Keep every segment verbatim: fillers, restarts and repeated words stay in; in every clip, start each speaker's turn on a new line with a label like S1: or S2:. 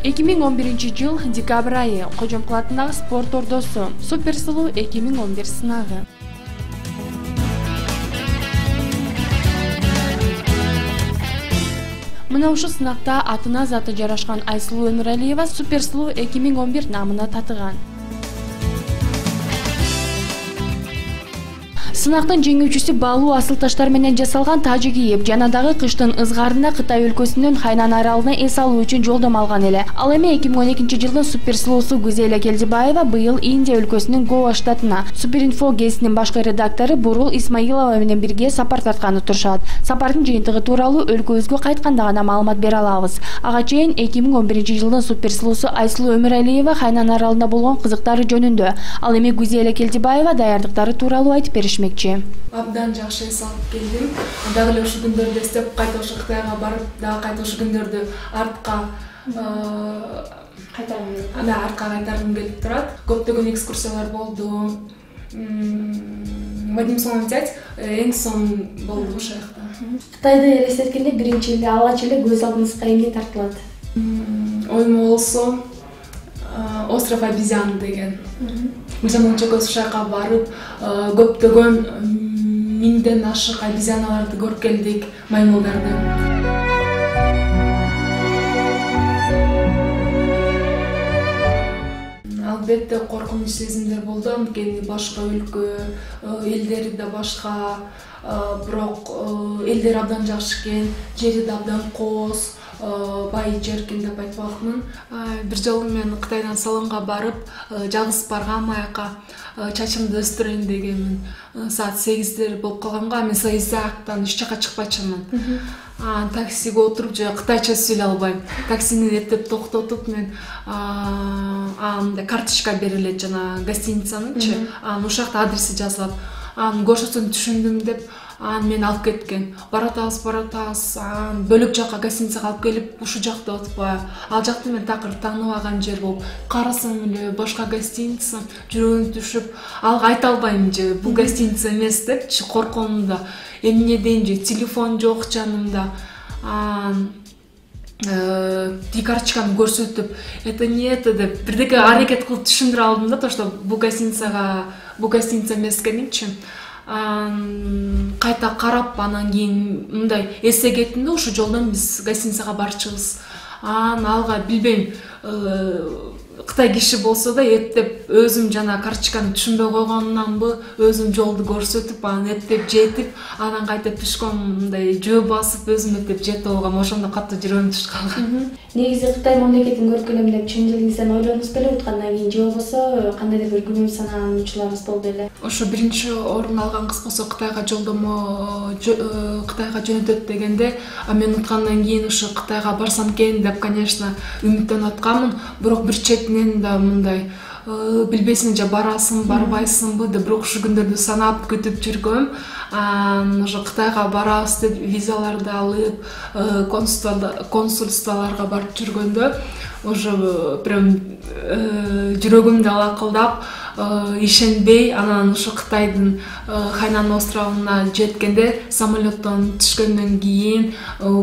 S1: эки миң он биринчи жыл декабрь айы Кожомкул атындагы спорт ордосу Супер сулуу эки миң он бир сынагы. Мына ушул сынакта атына заты жарашкан Айсулуу Өмүралиева Супер сулуу эки миң он бир намына татыган. Сынактын жеңүүчүсү баалуу асыл таштар менен жасалган тажы кийип, жана дагы кыштын ызгаарында Кытай өлкөсүнүн Хайнан аралына эс алуу үчүн жолдомо алган эле. Ал эми эки миң он экинчи жылдын супер сулуусу Гүзела Келдибаева быйыл Индия өлкөсүнүн Гоа штатына Суперинфо гезитинин башкы редактору Бурул Исмаилова менен бирге сапар тартканы турушат. Сапардын жыйынтыгы тууралуу өлкөбүзгө кайтканда гана маалымат бере алабыз. Ага чейин эки миң он биринчи жылдын супер сулуусу Айсулуу Өмүралиева Хайнан аралында болгон кызыктары жөнүндө, ал эми Гүзела Келдибаева даярдыктары тууралуу айтып беришмек.
S2: Абдан жакшы эс алып келдим. Дагы эле ушул күндөрдү эстеп, кайта ошо Кытайга барып, дагы кайта ушул күндөрдү артка кайтаргым келип, анда артка кайтаргым келип турат. Көптөгөн экскурсиялар болду. В одним словом взять, эң соң болду ошол жакта.
S1: Кытайды элестеткенде биринчи эле алгач эле көз алдыңызга эмне тартылат?
S2: Оймо болсо остров обезьян деген. Биз анан чокос шайка барып, көптөгөн миңден ашык обезьяналарды көрүп келдик, маймылдарды. Албетте коркунуч сезимдер болду, анткени башка өлкө, элдери да башка, бирок элдери абдан жакшы экен, жери да абдан кооз. Бай жер экен деп айтпакмын. Бир жолу мен Кытайдан салонго барып, жалгыз баргам аяка, чачымды өстүрөйүн дегенмин. Саат сегиздер болуп калганга, мен сегизден эч жака чыкпайчымын. Таксиге отуруп же кытайча сүйлөй албайм. Таксини эптеп токтотуп мен анда карточка берилет жана гостиницаныңчы. Анан ушул жакта адреси жазылат. Анын көрсөтсөң түшүндүм деп Ан мен алып кеткен. Баратабыз, баратабыз, бөлөк жакка гостиницага алып келип, ушул жакта отпа. Ал жакты мен такыр тааныбаган жер болуп, карасам эле башка гостиница, жүрөгүм түшүп, алга айта албайм же, бул гостиница эмес депчи, коркомун да. Эмне дейин же, телефон жок жанымда. Ти карточканы көрсөтүп, это не это деп, бирдеке аракет кылып түшүндүрө алдым да, то что бул гостиницага, бул гостиница эмес экенинчи. Кайта карап, анан кийин мындай эссе кеттим да, ушул жолдон биз гостиницага барчыбыз. Анан алга билбейм, Кытай киши болсо да эптеп өзүм жана карточканы түшүнбөй койгонунанбы, өзүм жолду көрсөтүп, анан эптеп жетип, анан кайта пешком мындай жөө басып өзүм эптеп жетип алгам, ошондо катуу жүрөгүм түшүп калган.
S1: Негизи Кытай мамлекетин көрүп келем деп чын дилиңизден ойлонуңуз беле уткандан кийин же болбосо кандайдыр бир күнөө санаануучуларыңыз болду эле? Ошо
S2: биринчи орун алган кыз болсо Кытайга жолдомо Кытайга жөнөтөт дегенде, а мен уткандан кийин ошо Кытайга барсам экен деп, конечно, үмүттөнүп атканмын, бирок бир четинен да мындай билбейсиң же барасың, барбайсыңбы деп, бирок ушул күндөрдү санап күтүп жүргөм. Ошо Кытайга барабыз деп визаларды алып, консульстволорго барып жүргөндө, уже прям жүрөгүм да лакылдап, ишенбей, анан ошо Кытайдын Хайнан островуна жеткенде, самолеттон түшкөндөн кийин,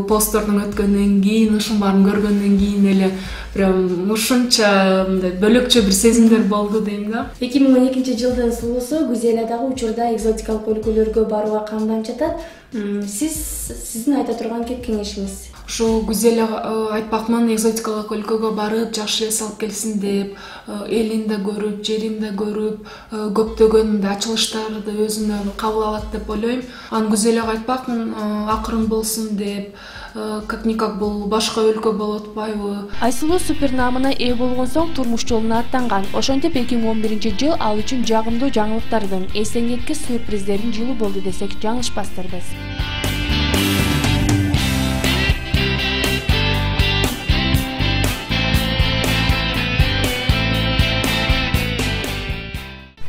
S2: посттордон өткөндөн кийин, ушун баарын көргөндөн кийин эле прям ушунча мындай бөлөкчө бир сезимдер болду дейм да.
S1: эки миң он экинчи жылдын сулуусу Гүзела дагы учурда экзотикалык өлкөлөргө барууга камдам жатат. Сиз сиздин айта турган кеп кеңешиңиз?
S2: Ошо Гүзела айтпакмын, экзотикалык өлкөгө барып, жакшы эс алып келсин деп, элин да көрүп, жерин да көрүп, көптөгөн ачылыштарды өзүнө кабыл алат деп ойлойм. Анан Гүзелага айтпакмын, акырын болсун деп, как-никак бул башка өлкө болуп атпайбы.
S1: Айсулуу супер наамына ээ болгон соң турмуш жолуна аттанган. Ошентип эки миң он биринчи жыл ал үчүн жагымдуу жаңылыктардын, эстен кеткис сюрприздердин жылы болду десек жаңылышпастырбыз.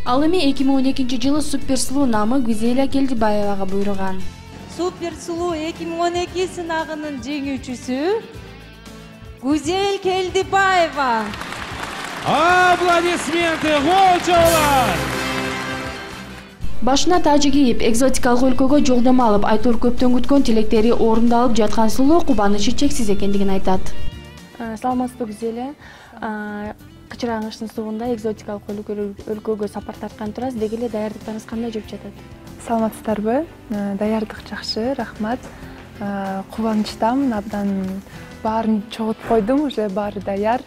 S1: Ал эми эки миң он экинчи жылы супер сулуу наамы Гүзела Келдибаевага буйруган.
S3: Супер сулуу эки миң он эки сынагынын жеңүүчүсү Гүзел Келдибаева.
S4: Аплодисменты, голчолар!
S1: Башына тажы кийип, экзотикалык өлкөгө жолдомо алып, айтор көптөн күткөн тилектери орундалып жаткан сулуу кубанычы чексиз экендигин айтат. Саламатсызбы Гүзеле? Кычыраңыштын сугунда экзотикалык өлкөгө сапар тарткан турасыз. Деги эле даярдыктарыңыз кандай жүрүп жатат?
S5: Саламатсыздарбы? Даярдык жакшы, рахмат. Кубанычтамын, абдан баарын чогултуп койдум, уже баары даяр.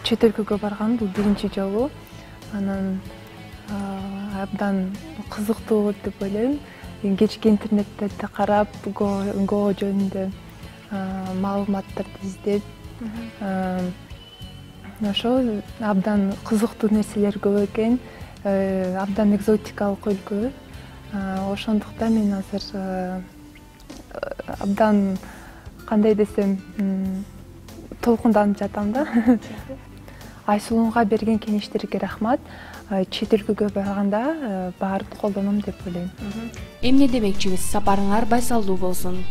S5: Чет өлкөгө барган бул биринчи жолу. Анан абдан кызыктуу деп ойлойм. Кечки интернеттерди карап, Го жөнүндө маалыматтарды издеп, ошол абдан кызыктуу нерселер көп экен, абдан экзотикалык өлкө. Ошондуктан мен азыр абдан кандай десем, толкунданып жатам да. Айсулууга берген кеңештерге рахмат. Чет өлкөгө барганда баарын колдоном деп ойлойм.
S1: Эмне демекчибиз? Сапарыңар байсалдуу болсун.